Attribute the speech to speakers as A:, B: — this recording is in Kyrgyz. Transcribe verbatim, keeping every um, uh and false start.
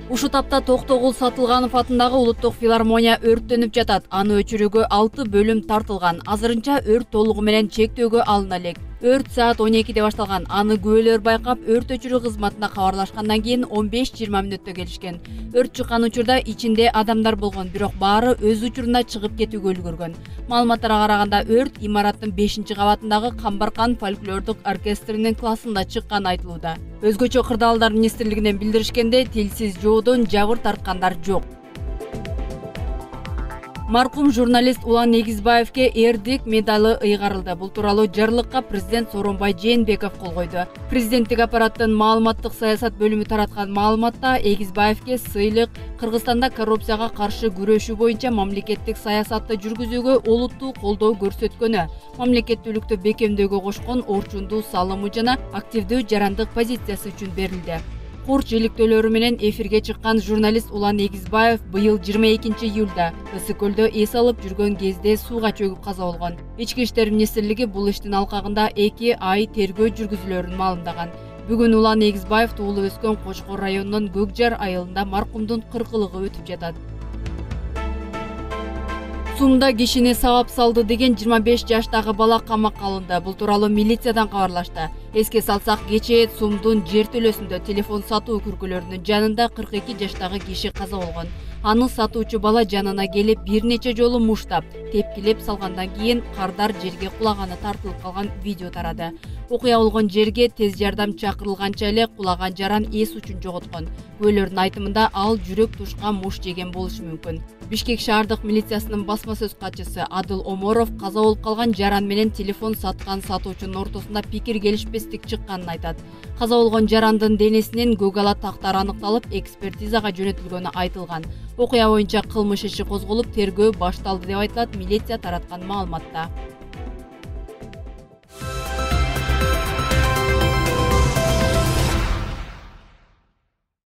A: Ушул тапта Токтогул Сатылганов атындагы улуттук филармония өрттөнүп жатат. Аны өчүрүүгө алты бөлүм тартылган. Азырынча өрт толугу менен чектөөгө алына элек. Өрт саат он экиде башталган. Аны күбөлөр байкап, өрт өчүрүү кызматына кабарлашкандан кийин он беш жыйырма мүнөттө келишкен. Өрт чыккан учурда ичинде адамдар болгон, бирок баары өз учурунда чыгып кетүүгө үлгүргөн. Маалыматтарга караганда өрт имараттын бешинчи кабатындагы Камбаркан фольклордук оркестринин классында чыкканы айтылууда. Өзгөчө кырдаалдар министрлигинен билдиришкенде, тилсиз жоодон жабыр тарткандар жок. Маркум журналист Улан Эгизбаевке эрдик медалы ыйгарылды. Бул тууралуу жарлыкка президент Сооронбай Жээнбеков кол койду. Президенттик аппараттын маалыматтык саясат бөлүмү тараткан маалыматта Эгизбаевке сыйлык Кыргызстанда коррупцияга каршы күрөшүү боюнча мамлекеттик саясатты жүргүзүүгө олуттуу колдоо көрсөткөнү, мамлекеттүүлүктү бекемдөөгө кошкон орчундуу салымы жана активдүү жарандык позициясы үчүн берилди. Курч иликтөөлөрү менен эфирге чыккан журналист Улан Эгизбаев быйыл жыйырма экинчи июлда Ысык көлдө эс алып жүргөн кезде сууга чөгүп каза болгон. Ички иштер министрлиги бул иштин алкагында эки ай тергөө жүргүзүлөөрүн маалымдаган. Бүгүн Улан Эгизбаев туулуп өскөн Кочкор районунун Көкжар айылында маркумдун кыркылыгы өтүп жатат. Сумда кишини сабап салды деген жыйырма беш жаштагы бала камакка алынды. Бул тууралуу милициядан кабарлашты. Эске салсак, кечээ Сумдун жер төлөсүндө телефон сатуу күркөлөрүнүн жанында кырк эки жаштагы киши каза болгон. Аны сатуучу бала жанына келип бир нече жолу муштап, тепкилеп салгандан кийин кардар жерге кулаганы тартылып калган видео тарады. Окуя болгон жерге тез жардам чакырылганча эле кулаган жаран эс учун жоготкон. Күбөлөрдүн айтымында ал жүрөк тушка муш жеген болушу мүмкүн. Бишкек шаардык милициясынын басма сөз катчысы Адыл Оморов каза болуп калган жаран менен телефон саткан сатуучунун ортосунда пикир келишпестик чыкканын айтат. Каза болгон жарандын денесинен көк ала тактар аныкталып, экспертизага жөнөтүлгөнү айтылган. Окуя боюнча кылмыш иши козголуп, тергөө башталды деп айтылат милиция тараткан маалыматта.